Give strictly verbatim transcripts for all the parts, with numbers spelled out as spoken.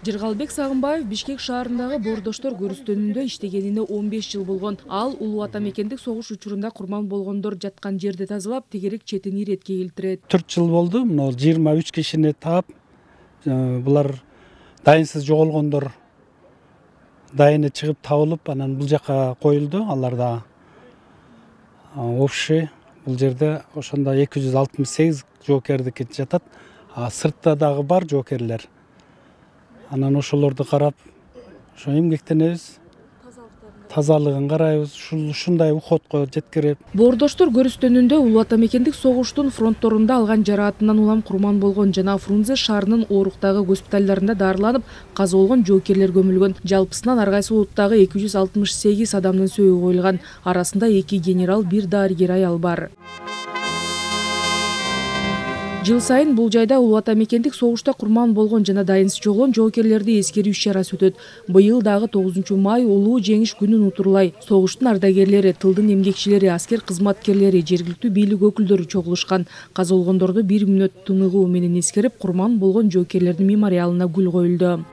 Жыргалбек Сагынбаев Бишкек шаарындагы Боордоштор көрүстөнүндө иштегенине он беш жыл болгон. Ал улуу ата мекендик согуш учурунда курман болгондор жаткан жерди тазалап, тегерек четин иретке келтирет. төрт жыл болду. Мына жыйырма үч кишини таап, булар дайынсыз жоголгондор дайыны чыгып табылып, анан бул жака коюлду. Алар да общий бул жерде ошондо эки жүз алтымыш сегиз жоокердики жатат. А сыртта дагы бар жоокерлер. Анан ошолорду карап, ошо эмгектенебиз. Тазалыгын карайбыз, ушундай уходко жеткирип. Боордоштор көрүстөнүндө улуу ата мекендик согуштун фронтторунда алган жараатынан улам курман болгон жана Фрунзе шаарынын Ооруктагы госпиталдарында дарыланып, каза болгон жоокерлер көмүлгөн. Жалпысынан ар кайсы улуттагы эки жүз алтымыш сегиз адамдын сөөгү коюлган. Арасында эки генерал, бир дарыгер аял бар. Жыл сайын бул жайда улуу ата мекендик согушта курман болгон жана дайынсыз жоголгон жоокерлерди эскерүү иш-чарасы өтөт. Быйыл дагы тогузунчу май улуу жеңиш күнүн утурлай согуштун ардагерлери, тылдын эмгекчилери, аскер кызматкерлери, жергиликтүү бийлик өкүлдөрү чогулушкан. Каза болгондорду бир мүнөт тыныгуу менен эскерип, курман болгон жоокерлердин мемориалына гүл коюлду.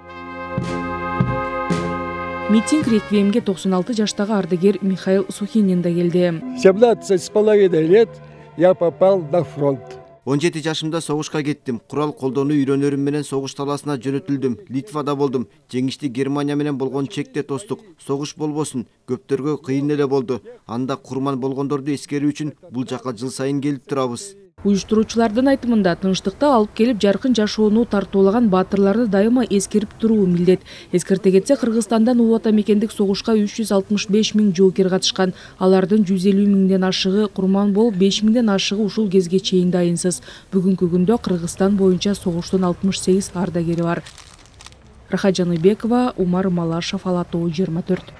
Митинг реквиемге токсон алты жаштагы ардагер Михаил Сухинин да келди. семнадцать с половиной лет я попал на фронт. он жети жашымда согушка кеттим. Курал колдонуу үйрөнөрүм менен согуш таласына жөнөтүлдүм. Литвада болдум. Жеңишти Германия менен болгон чекте тостук. Согуш болбосун. Көптөргө кыйын эле болду. Анда курман болгондорду эскерүү үчүн бул жака жыл сайын келип турабыз. Уюштуруучулардын айтымында тынчтыкты алып келип жаркын жашоону тартуулаган баатырларды дайыма эскерип туруу милдет. Эскерте кетсе, Кыргызстандан улуу ата мекендик согушка үч жүз алтымыш беш миң жоокер катышкан. Алардын жүз элүү миңден ашыгы курман болуп, беш миңден ашыгы ушул кезге чейин дайынсыз. Бүгүнкү күндө Кыргызстан боюнча согуштун алтымыш сегиз ардагери бар. Рахат Жаныбекова, Умар Малашев, Ала Тоо жыйырма төрт.